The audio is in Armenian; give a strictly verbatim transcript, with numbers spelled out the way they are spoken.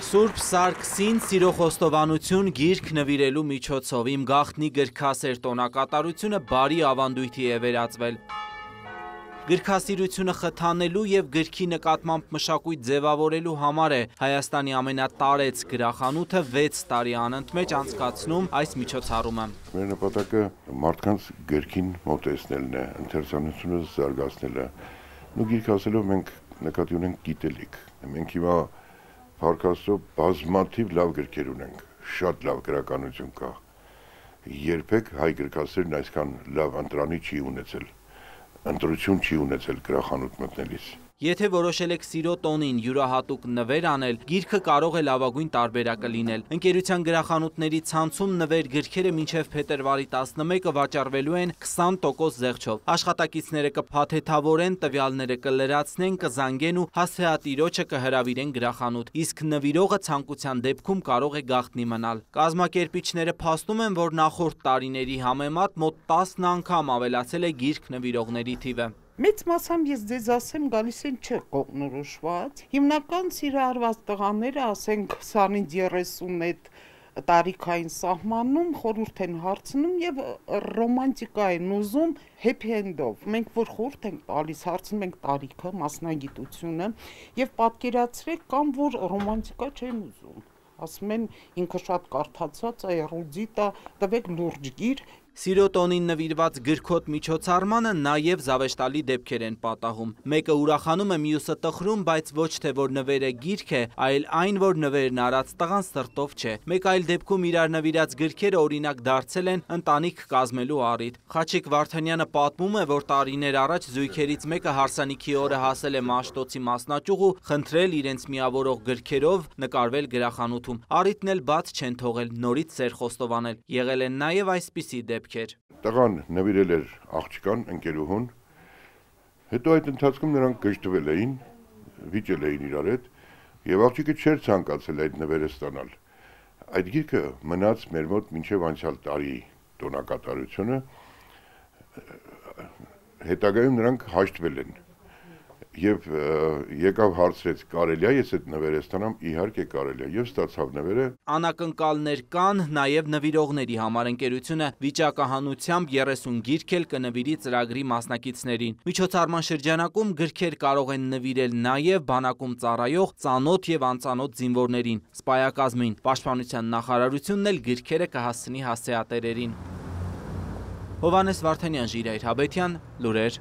Սուրբ Սարգսին սիրո խոստովանություն գիրք նվիրելու միջոցով իմ գաղտնի գրքասեր տոնակատարությունը բարի ավանդույթի է վերածվել։ Գրքասիրությունը խթանելու և գրքի նկատմամբ մշակույթ ձևավորելու համար է Հայաստանի ամենատարեց գրախանութը վեց տարի անընդմեջ անցկացնում այս միջոցառումը։ Մեր նպատակը մարդկանց գրքին մոտեցնելն է, ընթերցանությունը զարգացնելը։ Ու գիրք ասելով մենք նկատի ունենք գիտելիք։ Մենք հիմա փառք Աստծո բազմաթիվ լավ գրքեր ունենք, շատ լավ գրականություն կա։ Երբեք հայ գրքասերն այսքան լավ ընտրանի չի ունեցել։ Ընտրություն չի ունեցել գրախանութ մտնելիս։ Եթե որոշել եք սիրո տոնին յուրահատուկ նվեր անել, գիրքը կարող է լավագույն տարբերակը լինել։ Ընկերության գրախանութների ցանցում նվեր գրքերը մինչև փետրվարի տասնմեկը վաճառվելու են քսան տոկոս զեղչով։ Աշխատակիցները կփաթեթավորեն, տվյալները կլրացնեն, կզանգեն ու հասցեատիրոջը կհրավիրեն գրախանութ, իսկ նվիրողը ցանկության դեպքում կարող է գաղտնի մնալ։ Կազմակերպիչները փաստում են, որ նախորդ տարիների համեմատ մոտ տասն անգամ ավելացել է գիրք նվիրողների թիվը։ Մեծ մասամբ ես ձեզ ասեմ գալիս են չէ կողնորոշված, հիմնական սիրահարված տղաները ասենք քսանից երեսուն այդ տարիքային սահմանում խորհուրդ են հարցնում եւ ռոմանտիկա են ուզում happy end-ով։ Մենք որ խորհուրդ ենք տալիս, հարցնում ենք տարիքը, մասնագիտությունը եւ պատկերացրեք կամ որ ռոմանտիկա չեն ուզում։ Ասում են ինքը շատ կարդացած է, էրուդիտ է, տվեք լուրջ գիր։ Սիրո տոնին նվիրված գրքոտ միջոցառմանը նաև զավեշտալի դեպքեր են պատահում։ Մեկը ուրախանում է, մյուսը տխրում, բայց ոչ թե որ նվերը գիրք է, այլ այն, որ նվերն արած տղան սրտով չէ։ Մեկ այլ դեպքում իրար նվիրած գրքերը օրինակ դարձել են ընտանիք կազմելու առիթ։ Խաչիկ Վարդանյանը պատմում է, որ տարիներ առաջ զույգերից մեկը հարսանիքի օրը հասել է Մաշտոցի մասնաճյուղ ու խնդրել իրենց միավորող գրքերով նկարվել գրախանութում։ Առիթն էլ բաց չեն թողել, նորից սեր խոստովանել։ Եղել են նաև այսպիսի դեպքեր։ Տղան նվիրել էր աղջկան ընկերուհուն, հետո այդ ընթացքում նրանք գժտվել էին, վիճել էին իրար հետ, եւ աղջիկը չէր ցանկացել այդ նվերը ստանալ։ Այդ գիրքը մնաց մեր մոտ մինչև անցյալ տարի տոնակատարությունը, հետագայում նրանք հաշտվել են։ Եվ եկավ հարցրեց կարելի է ես այդ նվերը ստանամ, իհարկե կարելի է, եւ ստացավ նվերը։ Անակնկալներ կան նաև նվիրողների համար ընկերությունը վիճակահանությամբ երեսուն գիրք էլ կնվիրի ծրագրի մասնակիցներին։ Միջոցառման շրջանակում գրքեր կարող են նվիրել նաև բանակում ծառայող ծանոթ եւ անծանոթ զինվորներին, սպայակազմին։ Պաշտպանության նախարարությունն էլ գրքերը կհասցնի հասցեատերերին։ Հովհաննես Վարդանյան, Ժիրայր Հաբետյան, լուրեր։